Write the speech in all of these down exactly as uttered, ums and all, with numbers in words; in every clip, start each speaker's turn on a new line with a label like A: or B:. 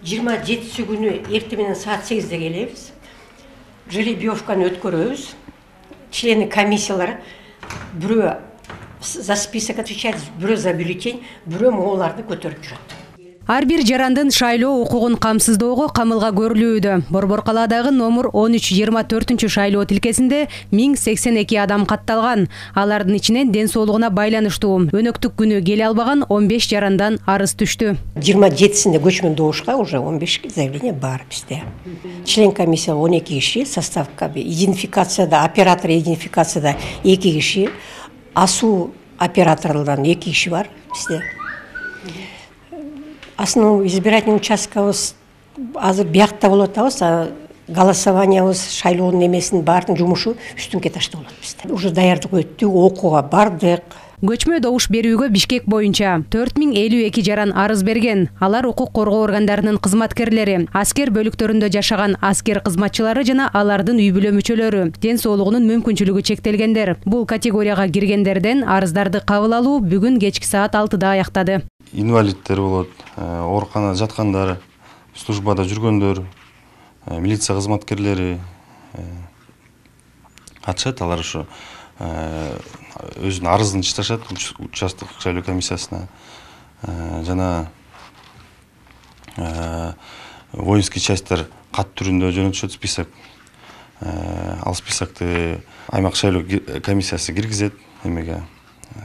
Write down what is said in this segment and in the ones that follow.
A: жыйырма жетиси күнү эртең менен саат сегизде келебиз. Жеребьевканы өткөрөбүз. Члены комиссиялар бирөө за список отвечает, бирөө за бюллетень, бирөө могуларды көтөрүп жүрөт.
B: Ар бир жарандын шайлоо укугун камсыздоого камылга көрүлүүдө. Борбор калаадагы номер он үч жыйырма төртүнчү шайлоо тилкесинде миң сексен эки адам катталган. Алардын ичинен ден соолугуна байланыштуу өнөктүк күнү келе албаган он беш жарандан арыз түштү.
A: жыйырма жетисинде көчмөн добушка уже он беш заявление бар бизде. Член комиссия он эки киши, составка идентификацияда, оператор идентификацияда эки киши, асуу операторлордон эки киши бар бизде. Основной избирательный участкабыз азыр биякта болуп атабыз, голосованиябыз, шайлоонун эмесинин баардык жумушу үстүңкү этажда болот бизде. Уже даярдык өттүк, окууга бардык.
B: Көчмө добуш берүүгө Бишкек боюнча төрт миң элүү эки жаран арыз берген. Алар укук коргоо органдарынын кызматкерлери, аскер бөлүктөрүндө жашаган аскер кызматчылары жана алардын үй бүлө мүчөлөрү, ден соолугунун мүмкүнчүлүгү чектелгендер. Бул категорияга киргендерден арыздарды кабыл алуу бүгүн кечки саат алтыда аяктады.
C: Инвалидтер болот, ооруканада жаткандар, службада жүргөндөр, милиция кызматкерлери катышат. Алар ушу өзүнүн арызын чыгышат участок шайлоо комиссиясына. Жана воинский частьтер кат түрүндө жөнөтүшөт список. Ал списокты аймак шайлоо комиссиясы киргизет, эмеге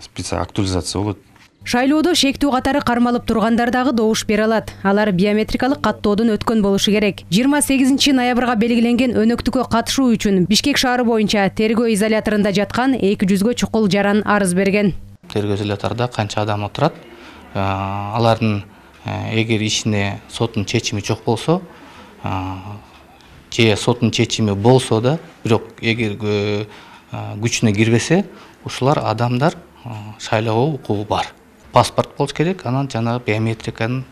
C: список актуализация болот.
B: Шайлоодо шектүү катары кармалып тургандар дагы добуш бере алат. Алар биометрикалык каттоодон өткөн болушу керек. жыйырма сегизинчи ноябрга белгиленген өнөктүккө катышуу үчүн Бишкек шаары боюнча тергөө изоляторунда жаткан эки жүзгө чукул жаран арыз берген.
D: Тергөө изоляторунда канча адам отурат? Алардын эгер ичинде соттун чечими жок болсо, же соттун чечими болсо да, бирок эгер күчүнө кирбесе, ушулар адамдар шайлоого укугу бар. Паспорт болуш керек, анан жана биометриканын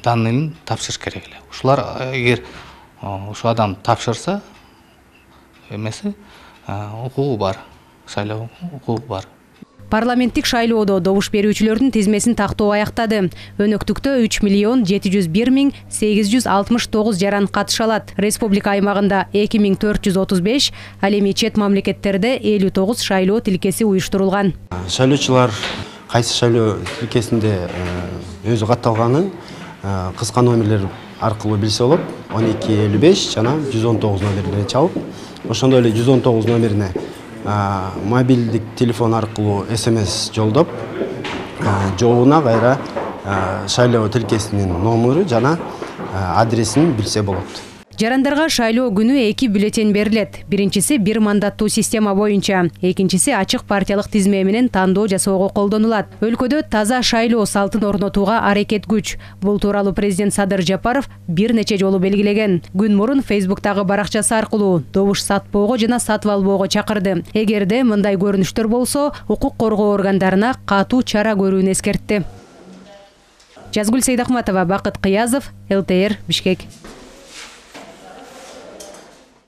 D: данныйын тапшырыш керек эле. Ушулар эгер ушу адам тапшырса, эмеси укугу бар, шайлоо укугу бар.
B: Парламенттик шайлоодо добуш берүүчүлөрдүн тизмесин тактоо аяктады. Өнөктүктө үч миллион жети жүз бир миң сегиз жүз алтымыш тогуз жаран катыша алат. Республика аймагында эки миң төрт жүз отуз беш, ал эми чет мамлекеттерде элүү тогуз шайлоо тилкеси уюштурулган.
E: Шайлоочулар кайсы шайлоо тилкесинде өзү катталганын кыска номерлер аркылуу билсе болот. он эки элүү беш жана жүз он тогуз номерине чалып, ошондой эле жүз он тогуз номерине мобилдик телефон аркылуу смс жолдоп, жообуна кайра шайлоо тилкесинин номеру жана адресин билсе болот.
B: Жарандарга шайлоо күнү эки бюллетень берилет. Биринчиси бир мандаттуу система боюнча, экинчиси ачык партиялык тизме менен тандоо жасоого колдонулат. Өлкөдө таза шайлоо салтын орнотууга аракет күч. Бул тууралуу президент Садыр Жапаров бир нече жолу белгилеген. Күн мурун Фейсбуктагы баракчасы аркылуу добуш сатпоого жана сатып албоого чакырды. Эгерде мындай көрүнүштөр болсо, укук коргоо органдарына катуу чара көрүүнү эскертти. Жазгүл Сейдахматова, Бакыт Кыязов, эл тэ эр, Бишкек.